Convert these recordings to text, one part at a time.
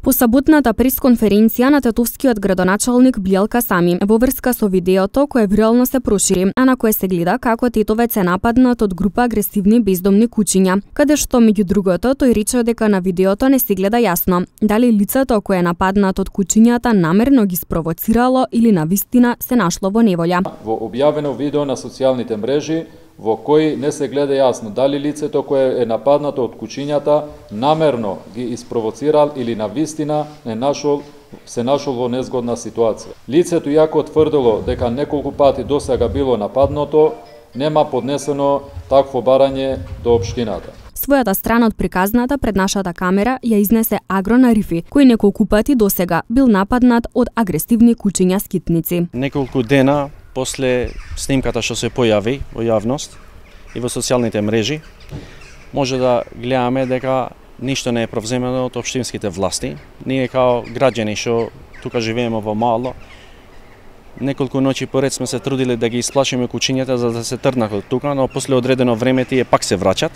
По саботната пресконференција на тетовскиот градоначалник Билјалка Сами во врска со видеото кое вирално се прошири, а на кое се гледа како тетовец е нападнат од група агресивни бездомни кучиња, каде што меѓу другото тој рече дека на видеото не се гледа јасно дали лицето кое е нападнат од кучињата намерно ги спровоцирало или навистина се нашло во неволја. Во објавено видео на социјалните мрежи во кој не се гледа јасно дали лицето кое е нападнато од кучињата намерно ги испровоцирал или навистина се нашол во незгодна ситуација. Лицето иако тврдило дека неколку пати досега било нападнато, нема поднесено такво барање до општината. Својата страна од приказната пред нашата камера ја изнесе Агрон Арифи, кој неколку пати досега бил нападнат од агресивни кучиња скитници. Неколку дена после снимката што се појави во јавност и во социјалните мрежи, може да гледаме дека ништо не е провземено од општинските власти. Ние као граѓани што тука живееме во Мало, неколку ноќи поред сме се трудили да ги исплашиме кучињата за да се тргнат од тука, но после одредено време тие пак се враќат.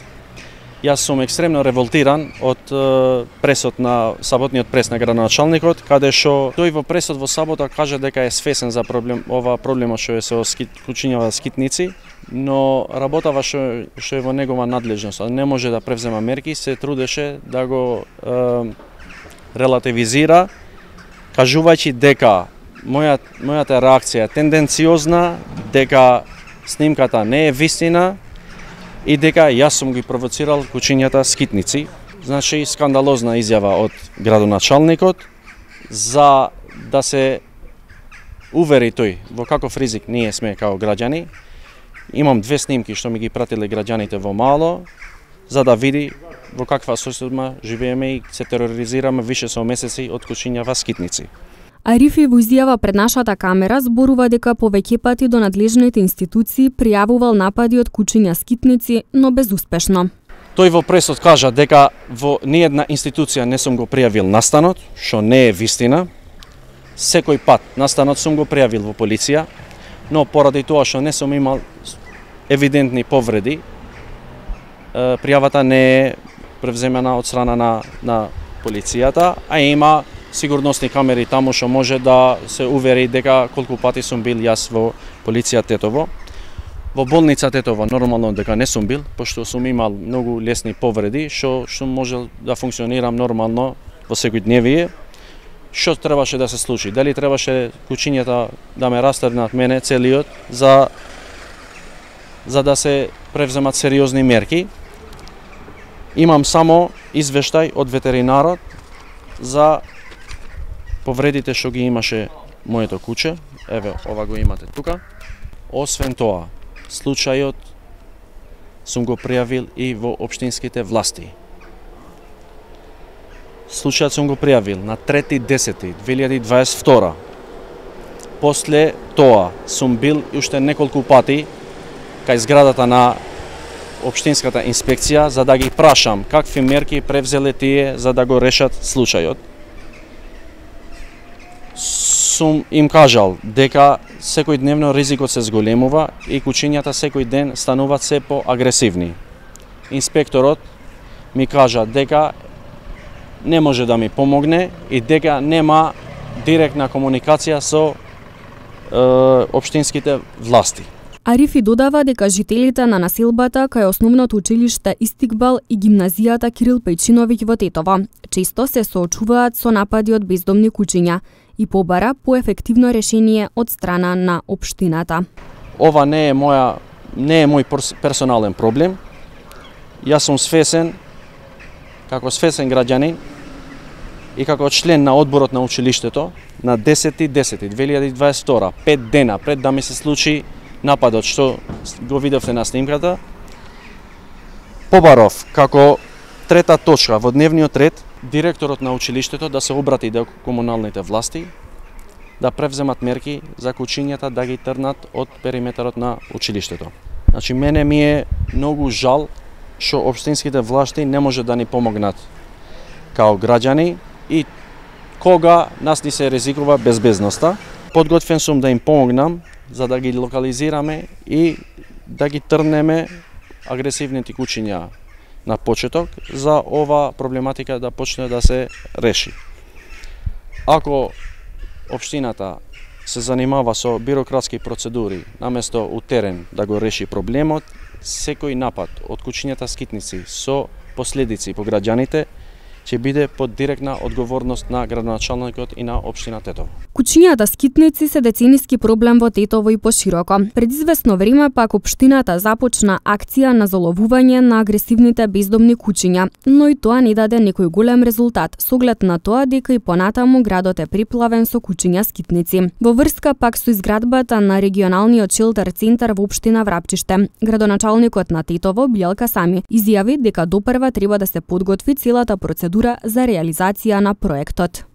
Јас сум екстремно револтиран од пресот на саботниот прес на градоначалникот, каде што тој во пресот во сабота кажа дека е свесен за проблемот што е со кучињава скитници, но работава што е во негова надлежност, не може да превзема мерки, се трудеше да го релативизира, кажувајќи дека мојата реакција е тенденциозна, дека снимката не е вистина и дека јас сум ги провоцирал кучињата скитници. Значи, скандалозна изјава од градоначалникот за да се увери тој во каков ризик ние сме као граѓани. Имам две снимки што ми ги пратиле граѓаните во Мало, за да види во каква состојба живееме и се тероризираме више со месеци од кучињава скитници. Арифи во изјава пред нашата камера зборува дека повеќе пати до надлежните институции пријавувал напади од кучиња скитници, но безуспешно. Тој во пресот кажа дека во ниедна институција не сум го пријавил настанот, што не е вистина. Секој пат настанот сум го пријавил во полиција, но поради тоа што не сум имал евидентни повреди, пријавата не е превземена од страна на полицијата, а има сигурносни камери таму што може да се увери дека колку пати сум бил јас во полиција Тетово. Во болница Тетово нормално дека не сум бил, пошто сум имал многу лесни повреди, што можел да функционирам нормално во секојдневие. Што требаше да се случи? Дали требаше кучињата да ме растргнат мене целиот за да се превземат сериозни мерки? Имам само извештај од ветеринарот за повредите што ги имаше моето куче. Еве, ова го имате тука. Освен тоа, случајот сум го пријавил и во општинските власти. Случајот сум го пријавил на 3.10.2022. После тоа сум бил уште неколку пати кај зградата на општинската инспекција за да ги прашам какви мерки превзеле тие за да го решат случајот. Сум им кажал дека секојдневно ризикот се зголемува и кучињата секој ден стануваат се поагресивни. Инспекторот ми кажа дека не може да ми помогне и дека нема директна комуникација со општинските власти. Арифи додава дека жителите на населбата кај основното училиште Истикбал и гимназијата Кирил Пејчиновиќ во Тетово често се соочуваат со напади од бездомни кучиња и побара поефективно решение од страна на општината. Ова не е мој персонален проблем. Јас сум свесен, како свесен граѓанин и како член на одборот на училиштето, на 10.10.2022, 5 дена пред да ми се случи нападот што го видовте на снимката, побаров како трета точка во дневниот ред директорот на училиштето да се обрати до комуналните власти, да превземат мерки за кучињата да ги трнат од периметарот на училиштето. Значи, мене ми е многу жал што општинските власти не може да ни помогнат као граѓани и кога нас ни се ризикува безбедноста. Подготвен сум да им помогнам за да ги локализираме и да ги трнеме агресивните кучиња на почеток за ова проблематика да почне да се реши. Ако општината се занимава со бирократски процедури, наместо у терен да го реши проблемот, секој напад од кучињата скитници со последици по граѓаните ќе биде под директна одговорност на градоначалникот и на општина Тетово. Кучињата скитници се децениски проблем во Тетово и пошироко. Пред известно време пак општината започна акција на заловување на агресивните бездомни кучиња, но и тоа не даде некој голем резултат, со оглед на тоа дека и понатаму градот е приплавен со кучиња скитници. Во врска пак со изградбата на регионалниот шелтер центар во општина Врапчиште, градоначалникот на Тетово Билјалка Сами изјави дека допрва треба да се подготви целата процедура за реализација на проектот.